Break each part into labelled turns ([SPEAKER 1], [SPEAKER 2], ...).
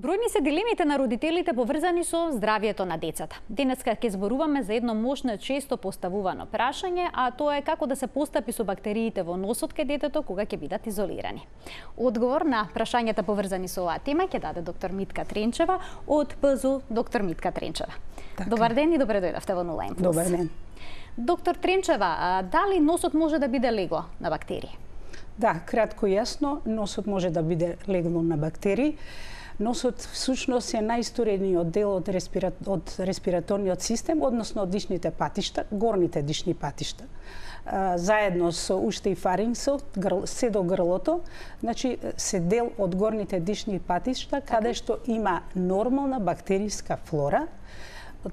[SPEAKER 1] Бројни се дилемите на родителите поврзани со здравието на децата. Денеска ќе зборуваме за едно мошно и често поставувано прашање, а тоа е како да се постапи со бактериите во носот кај детето кога ќе бидат изолирани. Одговор на прашањата поврзани со оваа тема ќе даде доктор Митка Тренчева од ПЗУ доктор Митка Тренчева.
[SPEAKER 2] Така.
[SPEAKER 1] Добар ден и добре дојдовте во Нула Импулс.
[SPEAKER 2] Добар ден.
[SPEAKER 1] Доктор Тренчева, дали носот може да биде легло на бактерии?
[SPEAKER 2] Да, кратко и јасно, носот може да биде легло на бактерии. Носот всушност е најисторениот дел од респираторниот систем, односно од дишните патишта, горните дишни патишта. Заедно со уште и фарингсот, се до грлото, значи се дел од горните дишни патишта, каде што има нормална бактериска флора.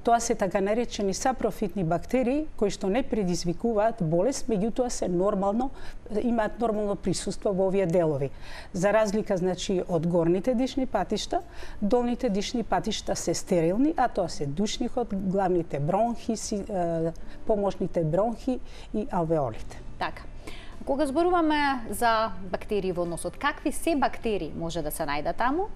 [SPEAKER 2] Тоа се така наречени сапрофитни бактерии кои што не предизвикуваат болест, меѓутоа се имаат нормално присуство во овие делови. За разлика значи од горните дишни патишта, долните дишни патишта се стерилни, а тоа се душникот, главните бронхи, помошните бронхи и алвеолите.
[SPEAKER 1] Така. Кога зборуваме за бактерии во носот, какви се бактерии може да се најдат таму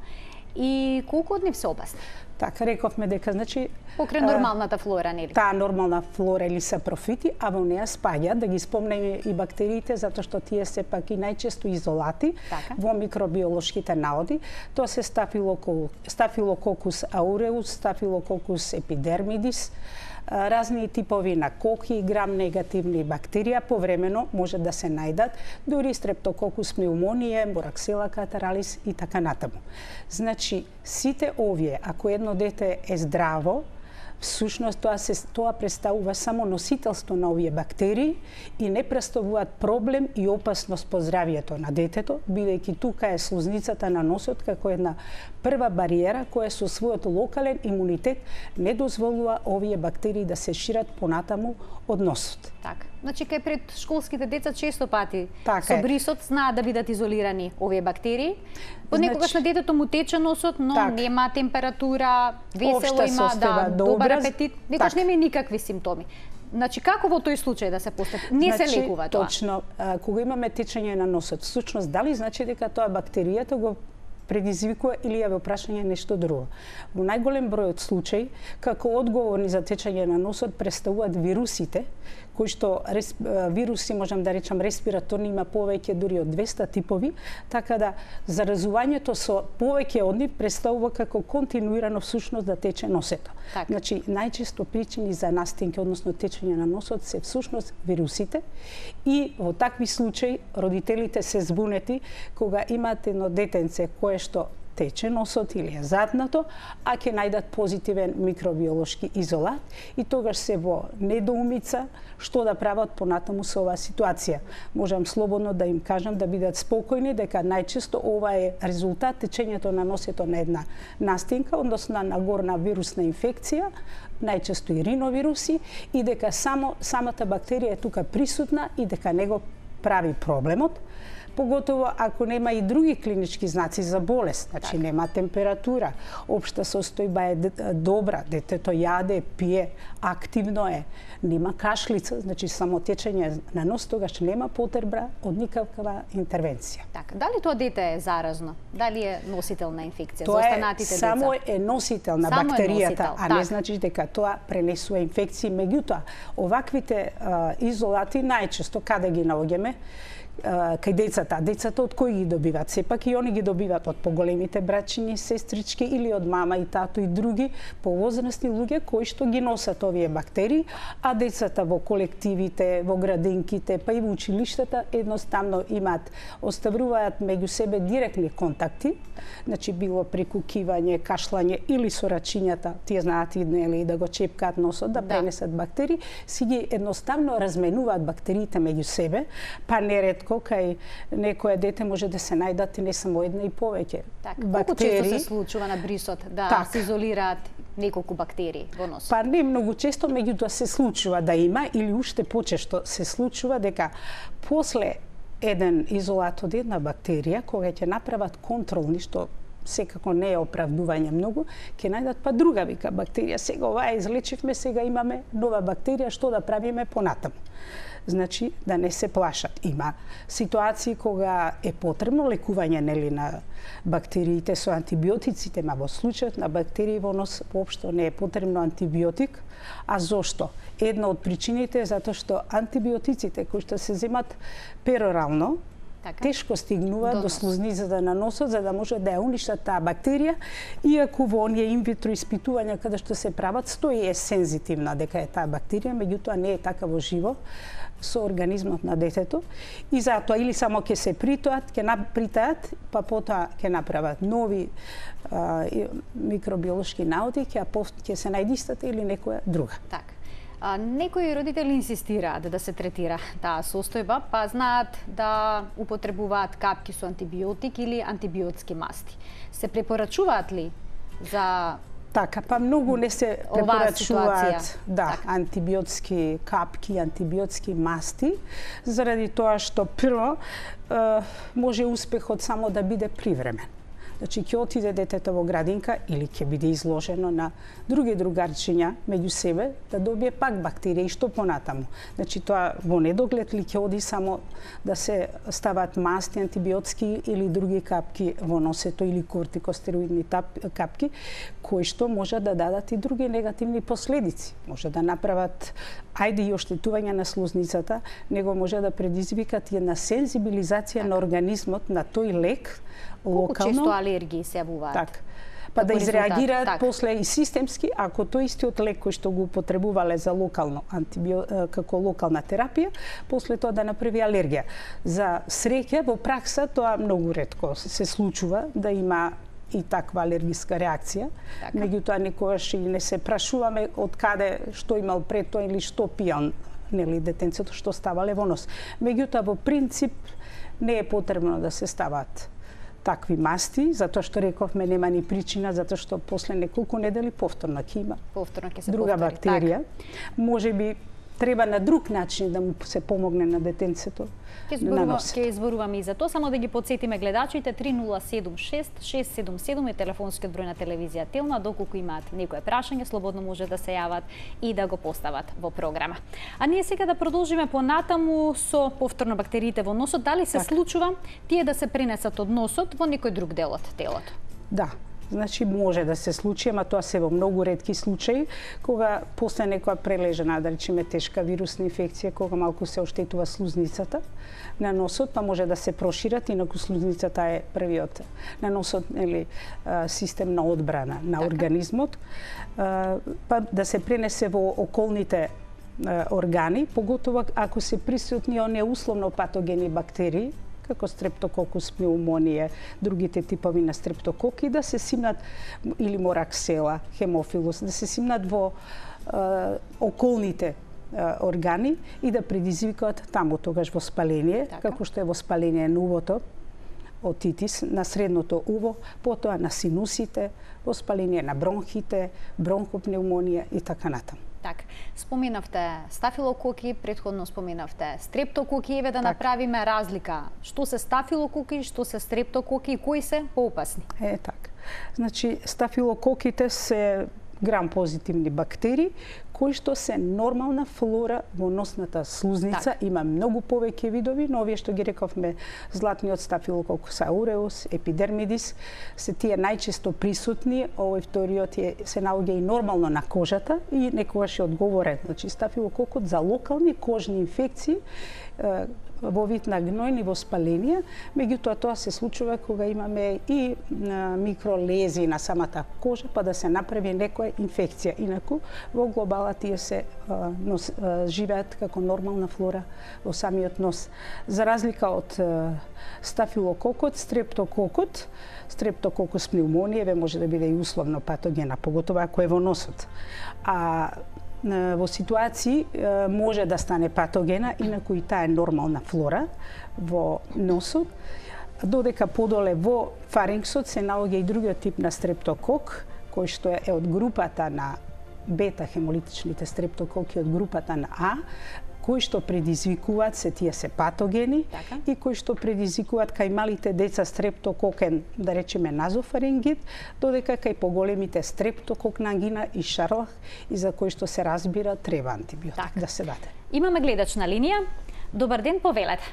[SPEAKER 1] и колку од нив се опасни?
[SPEAKER 2] Така, рековме дека, значи...
[SPEAKER 1] Покрај нормалната флора, нели?
[SPEAKER 2] Таа нормална флора или сапрофити, а во неа спаѓа, да ги спомнеме и бактериите, затоа што тие се пак и најчесто изолати во микробиолошките наоди. Тоа се Staphylococcus aureus, Staphylococcus epidermidis, разни типови на коки, грам-негативни бактерија повремено може да се најдат, дури Streptococcus pneumoniae, Moraxella catarrhalis и така натаму. Значи, сите овие, ако едно дете е здраво, всушност тоа представува само носителство на овие бактерии и не представуваат проблем и опасност по здравието на детето, бидејќи тука е слузницата на носот како една прва бариера која со својот локален имунитет не дозволува овие бактерии да се шират понатаму од носот.
[SPEAKER 1] Така. Значи кај пред школските деца често пати
[SPEAKER 2] така
[SPEAKER 1] со брисот знаат да бидат изолирани овие бактерии. Понекогаш на детето му тече носот, но нема температура, весело има, добар апетит, некогаш нема никакви симптоми. Значи, како во тој случај да се постапи? Не се лекува тоа.
[SPEAKER 2] Точно, кога имаме течење на носот, всушност дали значи дека тоа бактеријата го предизвикува или е во прашање нешто друго. Во најголем број од случаи, како одговорни за течење на носот представуваат вирусите, кои што вируси, можам да речам, респираторни, има повеќе дури од 200 типови, така да заразувањето со повеќе од нив представува како континуирано всушност да тече носето.
[SPEAKER 1] Так.
[SPEAKER 2] Значи, најчесто причини за настинки, односно течење на носот, се всушност вирусите и во такви случаи родителите се збунети кога имаат едно детенце кое што тече носот или е затнато, а ќе најдат позитивен микробиолошки изолат и тогаш се во недоумица што да прават понатаму со оваа ситуација. Можам слободно да им кажам да бидат спокојни дека најчесто ова е резултат течењето на носето на една настинка, односно на горна вирусна инфекција, најчесто и риновируси, и дека самата бактерија е тука присутна и дека не го прави проблемот. Поготово ако нема и други клинички знаци за болест, значи нема температура, општа состојба е добра, детето јаде, пие, активно е, нема кашлица, значи само течење на нос, тогаш нема потреба од никаква интервенција.
[SPEAKER 1] Така, дали тоа дете е заразно? Дали е носител на инфекција за
[SPEAKER 2] тоа
[SPEAKER 1] останатите деца?
[SPEAKER 2] Само е носител на бактеријата, а не значи дека тоа пренесува инфекции. Меѓутоа, оваквите изолати најчесто каде ги наоѓаме? Кај децата. Децата од кои ги добиваат? Сепак и они ги добиваат од поголемите брачини, сестрички или од мама и тато и други повозрасни луѓе кои што ги носат овие бактерии, а децата во колективите, во градинките, па и во училиштата едноставно оставуваат меѓу себе директни контакти, значи било прекукивање, кашлање или со рачињата, тие знаат и нели да го чепкаат носот, да пренесат бактерии, си ги едноставно разменуваат бактериите меѓу себе, па неретко кај некое дете може да се најдат и не само една и повеќе бактерии.
[SPEAKER 1] Колку често се случува на брисот да се изолираат неколку бактерии во носот?
[SPEAKER 2] Па не многу често, меѓутоа се случува да има или уште почесто се случува дека после еден изолат од една бактерија, кога ќе направат контролни, што секако не е оправдување многу, ќе најдат па друга вика бактерија. Сега оваа излечивме, сега имаме нова бактерија, што да правиме понатаму? Значи, да не се плашат. Има ситуации кога е потребно лекување на бактериите со антибиотиците, ма во случајот на бактерии во нос воопшто не е потребно антибиотик. А зошто? Една од причините е затоа што антибиотиците кои што се земат перорално, тешко стигнува до слузницата на носот за да може да ја уништат таа бактерија, иако во оние инвитро испитувања каде што се прават стои е сензитивна дека е таа бактерија, меѓутоа не е така во живо со организмот на детето и затоа или само ќе се притаат, па потоа ќе направат нови микробиолошки наоди, ќе се најде истата или некоја друга.
[SPEAKER 1] Така. Некои родители инсистираат да се третира таа состојба, па знаат да употребуваат капки со антибиотик или антибиотски масти. Се препорачуваат ли за
[SPEAKER 2] така, па многу не се препорачуваат антибиотски капки, антибиотски масти, заради тоа што прво може успехот само да биде привремен. Значи, ќе отиде детето во градинка или ќе биде изложено на други другарчиња меѓу себе да добие пак бактерија и што понатаму. Значи, тоа во недоглед ли ќе оди само да се стават масти, антибиотски или други капки во носето или кортикостероидни капки, кои што може да дадат и други негативни последици. Може да направат и оштетување на слузницата, него може да предизвикат една сензибилизација на организмот на тој лек, локално.
[SPEAKER 1] Колку често алергии се јавуваат?
[SPEAKER 2] Так. Па да изреагираат после и системски, ако тој истиот лек кој што го употребувале за локално како локална терапија, после тоа да направи алергија. За среќа во пракса тоа многу ретко се случува да има и таква алергиска реакција. Меѓутоа никогаш и не се прашуваме од каде, што имал пред тоа или што пијал детенцето, што ставале во нос. Меѓутоа во принцип не е потребно да се стават такви масти, затоа што рековме нема ни причина, затоа што после неколку недели повторно ќе има друга бактерија. Можеби треба на друг начин да му се помогне на детенцето.
[SPEAKER 1] Ќе изборуваме и за тоа, само да ги потсетиме гледачите, 3076-677 е телефонскиот број на телевизија Телна, доколку имаат некое прашање, слободно може да се јават и да го постават во програма. А ние сега да продолжиме понатаму со повторно бактериите во носот, дали се случува тие да се пренесат од носот во некој друг дел од телото?
[SPEAKER 2] Да. Значи може да се случи, ама тоа се во многу ретки случаи, кога после некоја прележена, да речеме тешка вирусна инфекција, кога малку се оштетува слузницата на носот, па може да се прошират, инаку слузницата е првиот на носот систем на одбрана на организмот, па да се пренесе во околните органи, поготово ако се присутни оние условно патогени бактерии, како стрептококус пнеумонија, другите типови на стрептококи, да се симнат, или мораксела, хемофилус, да се симнат во околните органи и да предизвикаат таму тогаш воспаление, како што е воспаление на увото, отитис, на средното уво, потоа на синусите, воспаление на бронхите, бронхопнеумонија и така натаму.
[SPEAKER 1] Так, споменавте стафилококи, претходно споменавте стрептококи, еве да направиме разлика. Што се стафилококи, што се стрептококи и кои се поопасни?
[SPEAKER 2] Така. Значи, стафилококите се грам-позитивни бактерии, кои што се нормална флора во носната слузница. Има многу повеќе видови, но овие што ги рековме, златниот стафилококус ауреус, епидермидис, се тие најчесто присутни. Овој вториот се наоѓа и нормално на кожата и некогаш е одговорен. Значи, стафилококот за локални кожни инфекции, во вид на гнојни воспаленија, меѓутоа тоа се случува кога имаме и микролези на самата кожа, па да се направи некоја инфекција. Инаку, во глобала тие се живеат како нормална флора во самиот нос. За разлика од стафилококот, стрептококус пнеумонија може да биде и условно патогена, поготово ако е во носот. А во ситуации може да стане патогена, инаку и таа е нормална флора во носот, додека подоле во фарингсот се наоѓа и другиот тип на стрептокок, кој што е од групата на бета хемолитичните стрептококи од групата на А, кои што предизвикуваат се тие се патогени и кои што предизвикуваат кај малите деца стрептококен, да речеме назофарингит, додека кај поголемите стрептококна ангина и шарлах и за кои што се разбира треба антибиотик да се даде.
[SPEAKER 1] Имаме гледач на линија. Добар ден, повелете.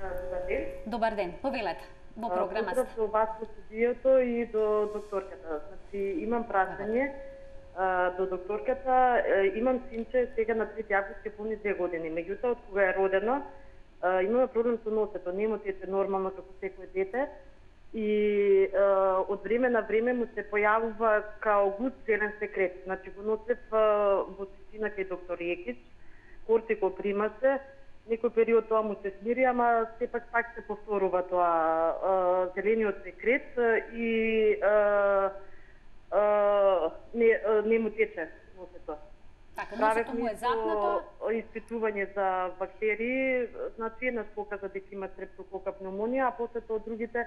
[SPEAKER 3] Добар ден.
[SPEAKER 1] Добар ден, повелете. Во програмата.
[SPEAKER 3] Поздрав до вас во студиото и до докторката. Значи, имам прашање до докторката. Имам синче сега на 3 август ќе пуни 2 години. Меѓутоа, од кога е родено, имаме проблем со носето. Не му тече нормално како секој дете. И од време на време му се појавува као густ зелен секрет. Значи, го носев во сесина кај доктор Јекич, кортико прима се, некој период тоа му се смири, ама сепак пак се повторува тоа зелениот секрет и не му тече носето.
[SPEAKER 1] Така, носето му е запнато.
[SPEAKER 3] Испитување за бактерии, значи еднаш показа дека има стрептокока пневмонија, а после тоа другите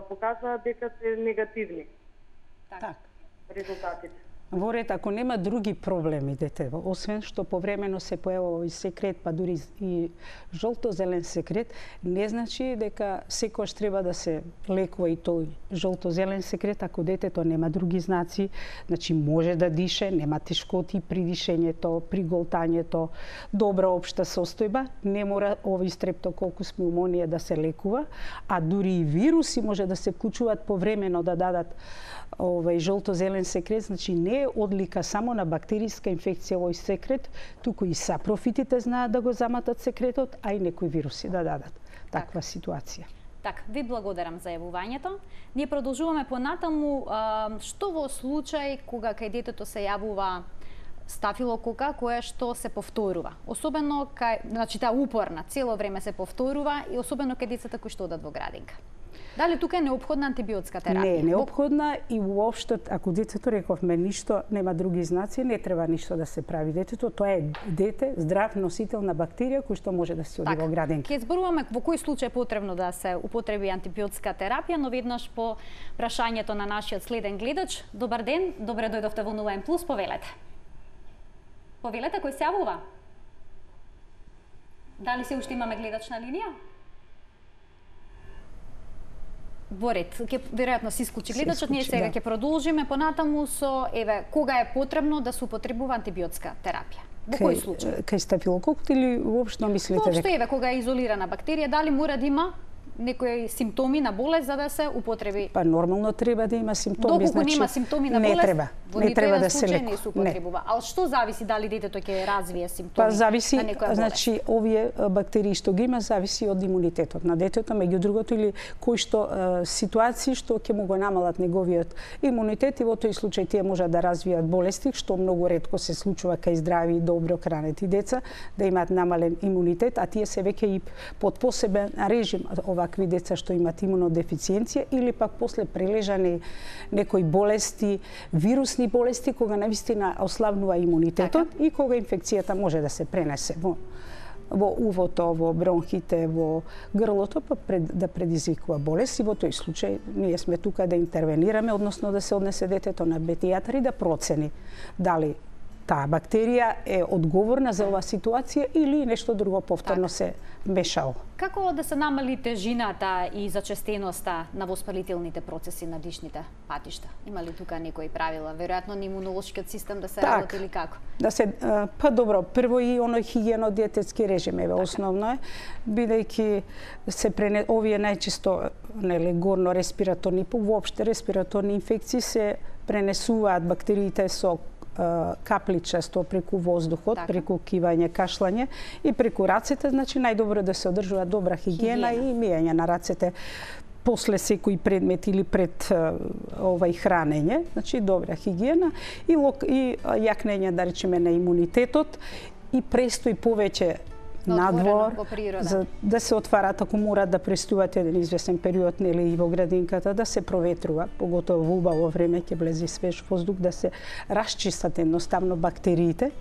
[SPEAKER 3] показа дека се негативни.
[SPEAKER 2] Така.
[SPEAKER 3] Резултатите.
[SPEAKER 2] Во ред, ако нема други проблеми детево, освен што повремено се појавува и секрет, па дури и жолто-зелен секрет, не значи дека секојаш треба да се лекува и тој жолто-зелен секрет, ако детето нема други знаци, значи може да дише, нема тешкоти при дишењето, при голтањето, добра општа состојба, не мора овој стрептококус пневмонија да се лекува, а дури и вируси може да се вклучуваат повремено да дадат овој жолто-зелен секрет, значи не е одлика само на бактериска инфекција овој секрет, туку и сапрофитите знаат да го заматат секретот, а и некои вируси да дадат таква ситуација.
[SPEAKER 1] Така, ви благодарам за јавувањето. Ние продолжуваме понатаму, што во случај кога кај детето се јавува стафилокока која што се повторува. Особено кај, значи таа упорна, цело време се повторува и особено кај децата кои што одат во градинка. Дали тука е неопходна антибиотска терапија?
[SPEAKER 2] Не е неопходна и уопшто, ако детето, рековме, ништо, нема други знаци, не треба ништо да се прави детето. Тоа е дете, здрав носител на бактерија кој што може да се оди во градинка.
[SPEAKER 1] Ќе зборуваме во кој случај е потребно да се употреби антибиотска терапија, но веднаш по прашањето на нашиот следен гледач. Добар ден, добре дојдовте во НУ+, повелете. Повелете, кој се јавува? Дали се уште имаме гледач на линија? Во ред, веројатно се исклучи гледачот, ние сега ќе продолжиме понатаму со кога е потребно да се употребува антибиотска терапија. Во кој случај?
[SPEAKER 2] Кај стафилококот или воопшто мислите дека?
[SPEAKER 1] Воопшто кога е изолирана бактерија, дали мора да има некои симптоми на болест за да се употреби?
[SPEAKER 2] Па нормално треба да има симптоми,
[SPEAKER 1] значи нема симптоми на болест.
[SPEAKER 2] Не треба да се лекува.
[SPEAKER 1] Не се употребува. Ал што зависи дали детето ќе развие симптоми?
[SPEAKER 2] Па зависи,
[SPEAKER 1] на некоја болест?
[SPEAKER 2] Значи овие бактерии што ги има зависи од имунитетот на детето, меѓу другото или кои што ситуации што ќе му го намалат неговиот имунитет и во тој случај тие можат да развијат болести, што многу ретко се случува кај здрави и добро хранети деца, да имаат намален имунитет, а тие се веќе и под посебен режим овакви деца што имаат имунодефициенција или пак после прележани некои болести, вирусни болести кога навистина ослабнува имунитетот и кога инфекцијата може да се пренесе во увото, во бронхите, во грлото, па да предизвикува болест и во тој случај ние сме тука да интервенираме, односно да се однесе детето на педијатар и да процени дали таа бактерија е одговорна за оваа ситуација или нешто друго повторно се мешало.
[SPEAKER 1] Како да се намали тежината и зачестеноста на воспалителните процеси на дишните патишта? Има ли тука некои правила? Веројатно на имунолошкиот систем да се работи или како?
[SPEAKER 2] Да се па добро, прво и оној хигиено-диететски режим основно е, бидејќи се овие најчесто горно респираторни, воопште респираторни инфекции се пренесуваат бактериите со капличесто преку воздухот, преку кивање, кашлање и преку рацете, значи најдобро да се одржува добра хигиена и мијање на рацете после секој предмет или пред хранење, значи добра хигиена и јакнење, да речеме, на имунитетот и престој повеќе надвор, за да се отварат, ако морат да престојат еден известен период, нели и во градинката, да се проветрува, поготово во убаво време ќе влезе свеж воздух, да се расчистат едноставно бактериите,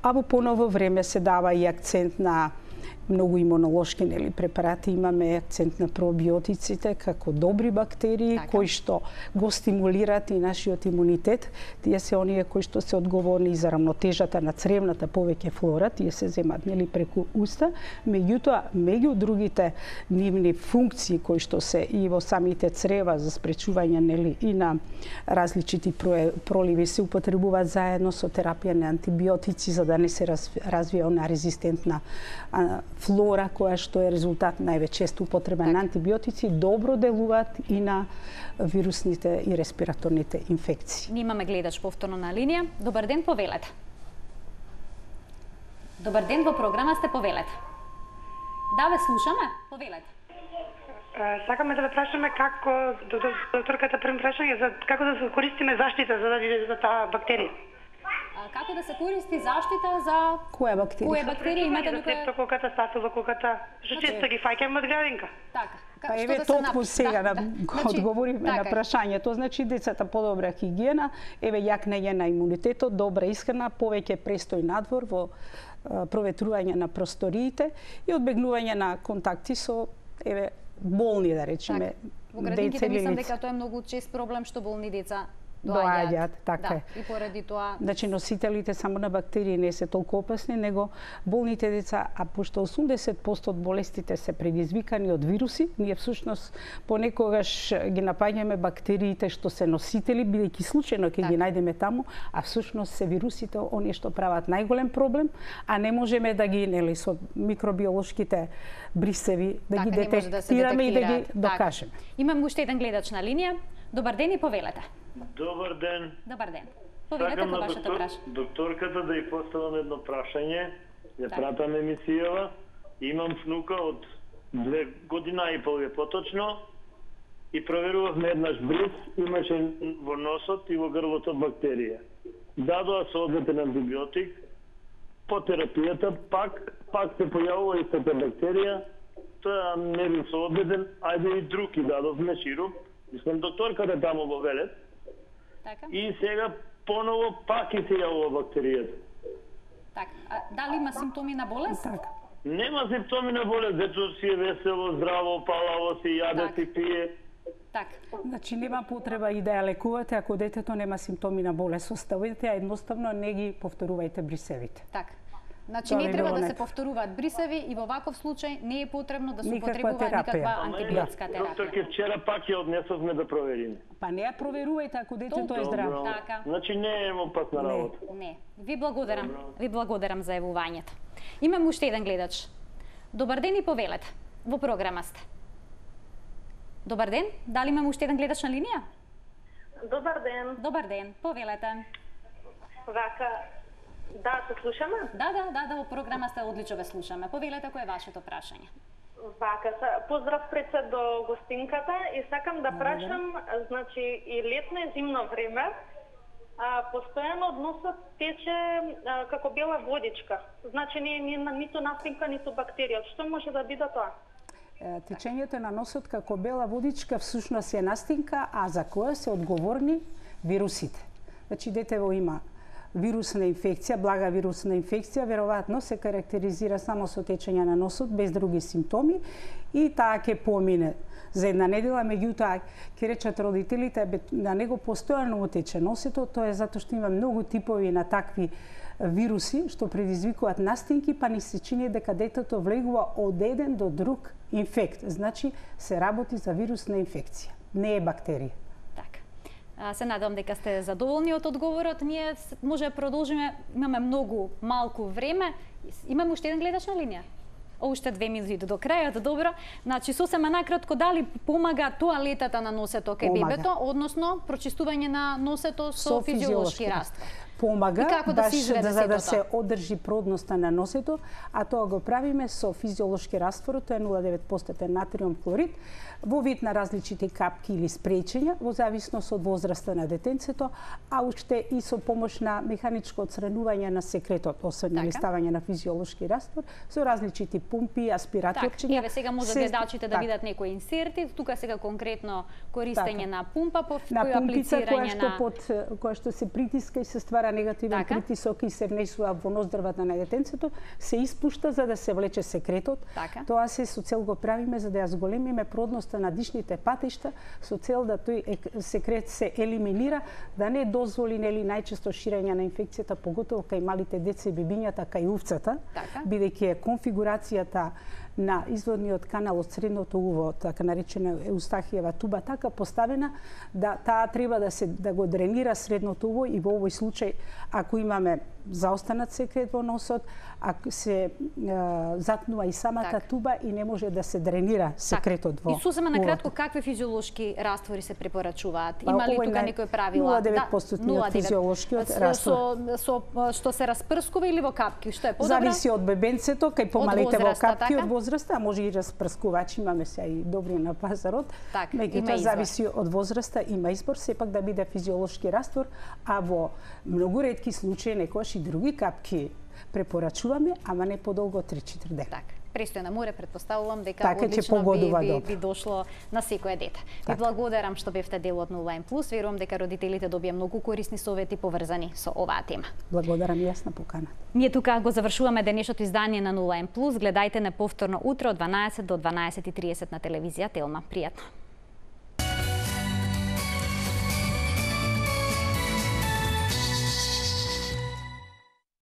[SPEAKER 2] а во поново време се дава и акцент на многу имунолошки препарати, имаме акцент на пробиотиците како добри бактерии кои што го стимулираат и нашиот имунитет. Тие се оние кои што се одговорни за рамнотежата на цревната повеќе флора, тие се земат преку уста, меѓутоа меѓу другите нивни функции кои што се и во самите црева за спречување и на различити проливи се употребуваат заедно со терапија на антибиотици за да не се развие она резистентна флора која што е резултат најчесто употреба на антибиотици, добро делуваат и на вирусните и респираторните инфекции.
[SPEAKER 1] Ние имаме гледач повторно на линија. Добар ден, повелете. Добар ден, во програма сте, повелете. Да, ве слушаме, повелете.
[SPEAKER 4] Сакаме да ве прашаме како, докторката прем прашање, како да се користиме заштита за да види за таа бактерија.
[SPEAKER 1] Како да се користи заштита за
[SPEAKER 2] која бактерија?
[SPEAKER 1] Која бактерија имате
[SPEAKER 4] некоја? Стрептококата, стафилококата, што често ги фаќаме од градинка.
[SPEAKER 1] Така.
[SPEAKER 2] Па еве толку сега да одговориме на прашањето. Значи децата подобра хигиена, еве јакнење на имунитетот, добра исхрана, повеќе престој надвор во проветрување на просториите и одбегнување на контакти со еве болни, да речеме,
[SPEAKER 1] во градинките мислам дека тоа е многу чест проблем што болни деца доаѓаат,
[SPEAKER 2] така е.
[SPEAKER 1] И поради тоа...
[SPEAKER 2] Значи, носителите само на бактерии не се толку опасни, него болните деца, а пошто 80% од болестите се предизвикани од вируси, ние всушност понекогаш ги напаѓаме бактериите што се носители, бидејќи случајно ќе ги најдеме таму, а всушност се вирусите оние што прават најголем проблем, а не можеме да ги, со микробиолошките брисеви, да ги детектираме и да ги докажеме.
[SPEAKER 1] Имам уште еден гледач на линија. Добар ден и повелете.
[SPEAKER 5] Добар ден.
[SPEAKER 1] Добар ден. Повелете по вашето прашање.
[SPEAKER 5] Докторката да ја поставам едно прашање. Ја пратам емисијава. Имам внука од 2 година и пол поточно и проверувавме еднаш бриз, имаше во носот и во грлото бактерија. Дадоа соодветен антибиотик. По терапијата пак се појавува истата бактерија. Тоа не бил соодветен, ајде и друг и дадовме шируп. Мислам, докторката таму во Велет.
[SPEAKER 1] Така.
[SPEAKER 5] И сега поново пак и се јавува бактеријата.
[SPEAKER 1] Така. Дали има симптоми на болест?
[SPEAKER 2] Така.
[SPEAKER 5] Нема симптоми на болест, дето си е весело, здраво, палаво, си јаде, си пие.
[SPEAKER 1] Така.
[SPEAKER 2] Значи нема потреба и да ја лекувате ако детето нема симптоми на болест. Оставете, а едноставно не ги повторувајте брисевите.
[SPEAKER 1] Така. Значи не треба да се повторуваат брисеви и во ваков случај не е потребно да се употребува никаква антибиотска терапија.
[SPEAKER 5] Докторке, вчера пак ја однесовме да провериме.
[SPEAKER 2] Па не ја проверувајте ако детето е здраво.
[SPEAKER 1] Така.
[SPEAKER 5] Значи не е опасна работа.
[SPEAKER 1] Не. Ви благодарам за јавувањето. Имам уште еден гледач. Добар ден и повелете. Во програма сте. Добар ден. Дали имам уште еден гледач на линија?
[SPEAKER 3] Добар ден.
[SPEAKER 1] Добар ден. Повелете.
[SPEAKER 3] Вака, да, се слушаме?
[SPEAKER 1] Да, во програма сте, одлично ве слушаме. Повелете, кој е вашето прашање?
[SPEAKER 3] Вака, поздрав пред се до гостинката и сакам да прашам, значи и летно и зимно време, постојано од носот тече како бела водичка. Значи не е ниту настинка, ниту бактерија. Што може да биде тоа?
[SPEAKER 2] Течењето на носот како бела водичка всушност е настинка, а за која се одговорни вирусите. Значи детево има вирусна инфекција, блага вирусна инфекција, веројатно се карактеризира само со течење на носот, без други симптоми и таа ќе помине за една недела, меѓутоа ќе речат родителите на него постојано утече носето, тоа е затоа што има многу типови на такви вируси што предизвикуваат настинки, па ни се чини дека детето влегува од еден до друг инфект. Значи се работи за вирусна инфекција, не е бактерија.
[SPEAKER 1] Се надевам дека сте задоволни од одговорот. Ние може да продолжиме, имаме многу малку време. Имаме уште еден гледач на линија? Уште 2 минути до крајот, добро. Значи, сосема накратко, дали помага тоалетата на носето кај бебето, односно прочистување на носето со физиолошки раствор?
[SPEAKER 2] Помага, баш за да се одржи продноста на носето, а тоа го правиме со физиолошки раствор, тоа е 0,9% натриум хлорид, во вид на различити капки или спрејчења, во зависност од возраста на детенцето, а уште и со помош на механичко отстранување на секретот, освен ставање на физиолошки раствор, со различити пумпи, аспираторчиња.
[SPEAKER 1] Еве сега може гледачите да видат некои инсерти, тука сега конкретно користење на пумпа по кој аплицирање
[SPEAKER 2] на која што се притиска и се ствара ствара негативен притисок и се внесува во ноздрвата на детенцето, се испушта за да се влече секретот. Тоа се со цел го правиме за да ја зголемиме продноста на дишните патишта, со цел да тој секрет се елиминира, да не дозволи најчесто ширење на инфекцијата, поготово кај малите деца и бебињата, кај увцата, бидејќи е конфигурацијата на изводниот канал од средното уво, така наречена Еустахиева туба, така поставена да таа треба да го дренира средното уво и во овој случај, ако имаме заостанат секрет во носот, ако се затнува и самата туба и не може да се дренира секретот во.
[SPEAKER 1] И сосема накратко, какви физиолошки раствори се препорачуваат? Има ли тука некој правила?
[SPEAKER 2] 0,9% физиолошкиот раствор.
[SPEAKER 1] Со што се распрскува или во капки? Што е подобро?
[SPEAKER 2] Зависи од бебенцето, кај помалите во капки, од возраста, а може и распрскувачи, имаме се и добри на пазарот. Меѓутоа зависи од возраста, има избор сепак да биде физиолошки раствор, а во многу ретки случаи некојаш и други капки препорачуваме, ама не подолго од 3-4 дена.
[SPEAKER 1] Така. Престои на море, предпоставувам дека одлично би дошло на секое дете. Ви благодарам што бевте дел од 0N+. Верувам дека родителите добија многу корисни совети поврзани со оваа тема.
[SPEAKER 2] Благодарам јас на поканата.
[SPEAKER 1] Ние тука го завршуваме денешното издание на 0N+. Гледајте не повторно утре од 12 до 12:30 на телевизија Телма. Пријатно.